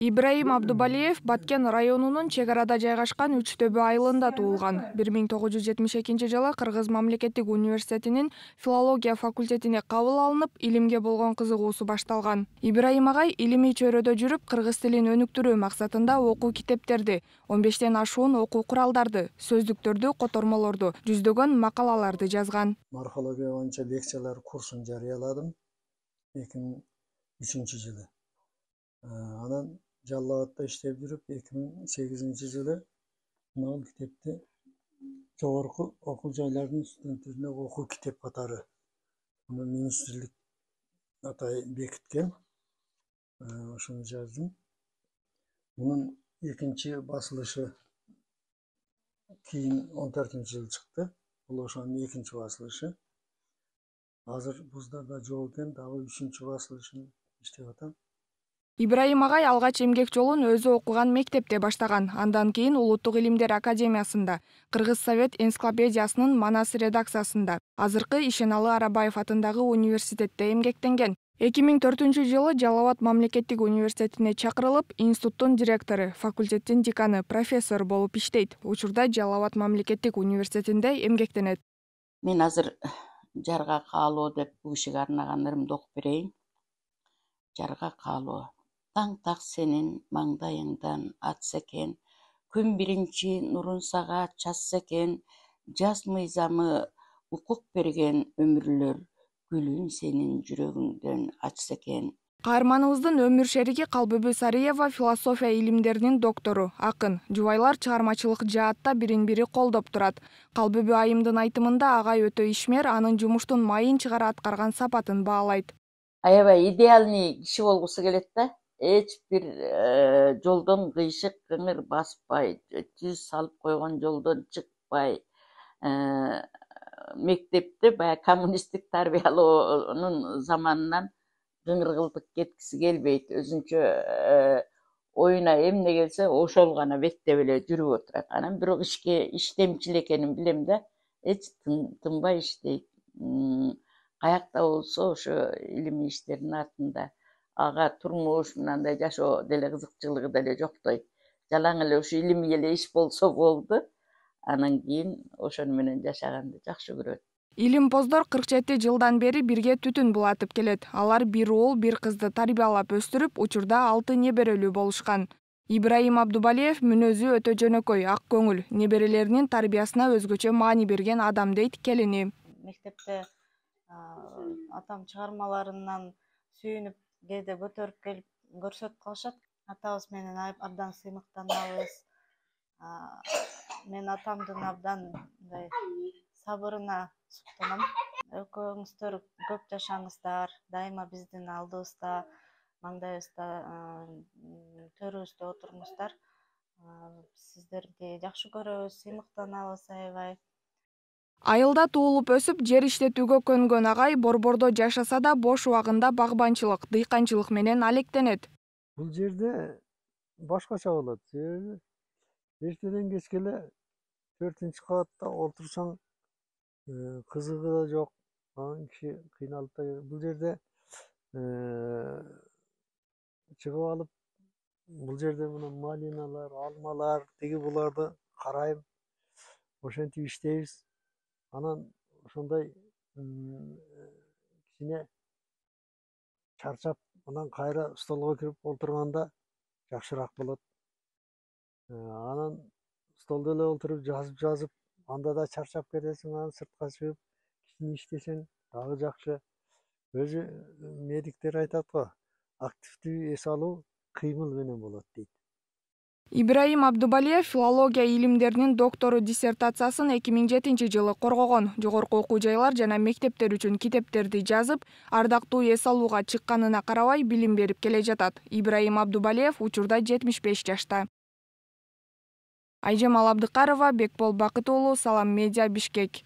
Ибраим Абдубалиев Баткен районунун чек арада жайгашкан Үчтөбө айылында туулган. 1972 жылы Кыргыз мамлекеттик университетинин филология факультетине кабыл алынып, илимге болгон кызыгуусу башталган. Ибраим агай илимий чөйрөдө жүрүп, кыргыз тилин өнүктүрүү максатында окуу китептерди, 15тен ашуун окуу куралдарды, сөздүктөрдү, котормолорду, жүздөгөн макалаларды жазган. Морфология боюнча лекциялар курсун жарыяладым 2003 жылы. Анан Жалал Абадта иштеп жүрүп 2008 жылы бул китепти жогорку окуу жайлардын студенттерине окуу китеп катары министрлик атай бекиткен. Ошону жаздым. Мунун экинчи басылышы кийин 14-жылы чыкты. Бул ошонун экинчи басылышы. Азыр буздарда жок экен, дагы 3-чү басылышын иштеп атам. Ибраим агай алгач эмгек жолун өзү окуган мектепте баштаган. Андан кийин Улуттук илимдер академиясында, Кыргыз совет энциклопедиясынын Манас редакциясында, азыркы Ишеналы Арабаев атындагы университетте эмгектенген. 2004 жылы Жалал Абад мамлекеттик университетине чакырылып, институттун директору, факультеттин деканы, профессор болуп иштейт. Учурда Жалал Абад мамлекеттик университетинде эмгектенет. Мен азыр жарга каалоо деп бул кишиге арнаган ырымды окуп берейин. Жарга каалоо. Таң так сенин маңдайыңдан атса экен, күн биринчи нурун сага чачса экен, жаз мыйзамы укук берген өмүрлөр, гүлүн сенин жүрөгүңдөн ачса экен. Каарманыбыздын өмүр шериги Калбүбү Сариева философия илимдеринин доктору, акын. Жубайлар чыгармачылык жаатта бирин-бири колдоп турат. Калбүбү айымдын айтымында агай өтө ишмер, анын жумуштун майын чыгара аткарган сапатын баалайт. Аябай идеальный киши болгусу келет да. Эч бир жолдон кыйшык кыңыр баспай, түз салып койгон жолдон чыкпай, мектепте баягы коммунисттик тарбиялоонун заманынан кыңыргылдык кеткиси келбейт. Өзүнчө оюна эмне келсе ошол гана беттеп эле жүрүп отурат. Анан бирок ишке иштемчил экенин билем да, эч тынбай иштейт. Каякта болсо ошо илимий иштердин артында. Ага турмуш мындай жашоо деле кызыкчылыгы деле жоктойт. Жалаң эле ушу илимий эле иш болсо болду. Анан кийин ошону менен жашаганды жакшы көрөт. Илимпоздор 47 жылдан бери бирге түтүн булатып келет. Алар бир уул, бир кызды тарбиялап өстүрүп, учурда 6 неберелүү болушкан. Ибраим Абдубалиев мүнөзү өтө жөнөкөй, ак көңүл, неберелеринин тарбиясына өзгөчө маани берген адам дейт келини. Мектепте атам чыгармаларынан сүйүнүп кээде көтөрүп келип көрсөтүп калышат. Атабыз менен абдан сыймыктанабыз. Мен атамдын абдан мындай сабырына суктанам. Экөөңүздөр көп жашаңыздар, дайыма биздин алдыбызда, маңдайыбызда, төрүбүздө отуруңуздар. Сиздерди жакшы көрөбүз, сыймыктанабыз аябай. Айылда туулуп өсүп, жер иштетүүгө көнгөн агай борбордо жашаса да бош убагында багбанчылык, дыйканчылык менен алектенет. Бул жерде башкача болот. Себеби эртеден кечке эле 4-кабатта отурсаң кызыгы да жок. Анан киши кыйналып да бул жерде чыгып алып, бул жерде мына малиналар, алмалар, тиги буларды карайм. Ошентип иштейбиз. Анан ошондой кичине чарчап, анан кайра столго кирип олтурганда жакшыраак болот. Анан столдо эле олтуруп жазып, анда да чарчап кетесиң, анан сыртка чыгып кичине иштесең дагы жакшы. Өзү медиктер айтат го, активдүү эс алуу кыймыл менен болот дейт. Ибраим Абдубалиев филология илимдеринин доктору диссертациясын 2007 жылы коргогон. Жогорку окуу жайлар жана мектептер үчүн китептерди жазып, ардактуу эс алууга чыкканына карабай билим берип келе жатат. Ибраим Абдубалиев учурда 75 жашта. Айжамал Абдыкарова, Бекбол Бакыт уулу, Салам Медиа, Бишкек.